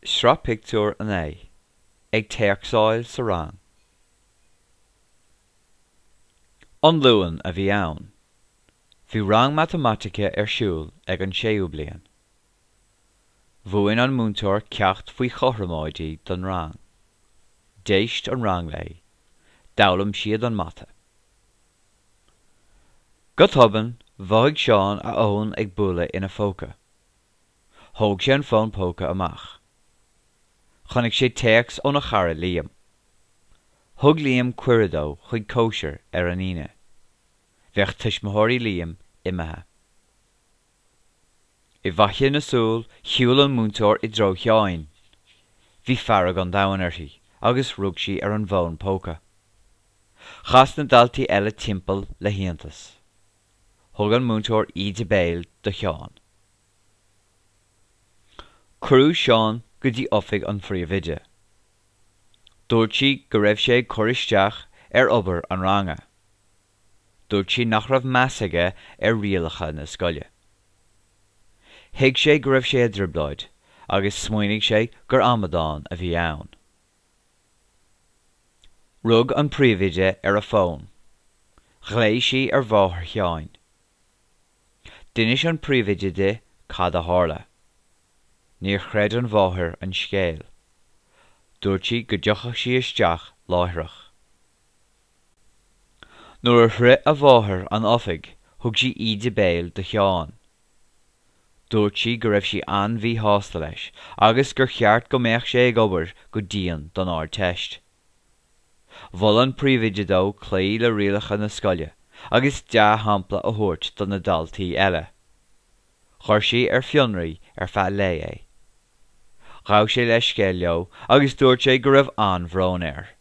Sraith Pictiúr 9, Ag Téacsáil sa Rang. An Luan a bhí ann. Bhí rang matamaitice ar siúl ag an séú bliain. Mhúin an múinteoir ceacht faoi chothromóidí don rang. D'éist an rang léi. D'fhoghlaim siad an mata. Go tobann, mhothaigh Seán a fhón ag bualadh ina phóca. Thóg sé an fón póca amach. Chonaic sé téacs óna chara Liam. Thug Liam cuireadh dó chuig cóisir ar an Aoine. Bheadh tuismitheoirí Liam imithe. I bhfaiteadh na súl, shiúil an múinteoir i dtreo Sheáin. Bhí fearg an domhain uirthi agus rug sí ar an bhfón póca. Chas na daltaí eile timpeall le hiontas. Thug an múinteoir íde béil do Sheán. Cuireadh Seán go dtí oifig an phríomhoide. Dúirt sí go raibh sé ag cur isteach ar obair an ranga. Dúirt sí nach raibh meas aige ar rialacha na scoile. Thuig sé go raibh sé i dtrioblóid agus smaoinigh sé gur amadán a bhí ann. Rug an príomhoide ar a fón. Ghlaoigh sí ar mháthair Sheáin. D'inis an príomhoide di cad a tharla. Níor chreid an mháthair an scéal. Dúirt sí go dtiocfadh sí isteach láithreach. Nuair a shroich a mháthair an oifig thug sí íde béil do Sheán. Dúirt sí go raibh sí an-mhíshásta leis agus gur cheart go mbeadh sé ag obair go dian don Ardteist. Mhol an príomhoide dó cloí le rialacha na scoile agus dea-shampla a thabhairt do na daltaí eile. Chuir sí ar fionraí ar feadh lae é. Ghabh sé leithscéal leo agus dúirt sé go raibh an-bhrón air.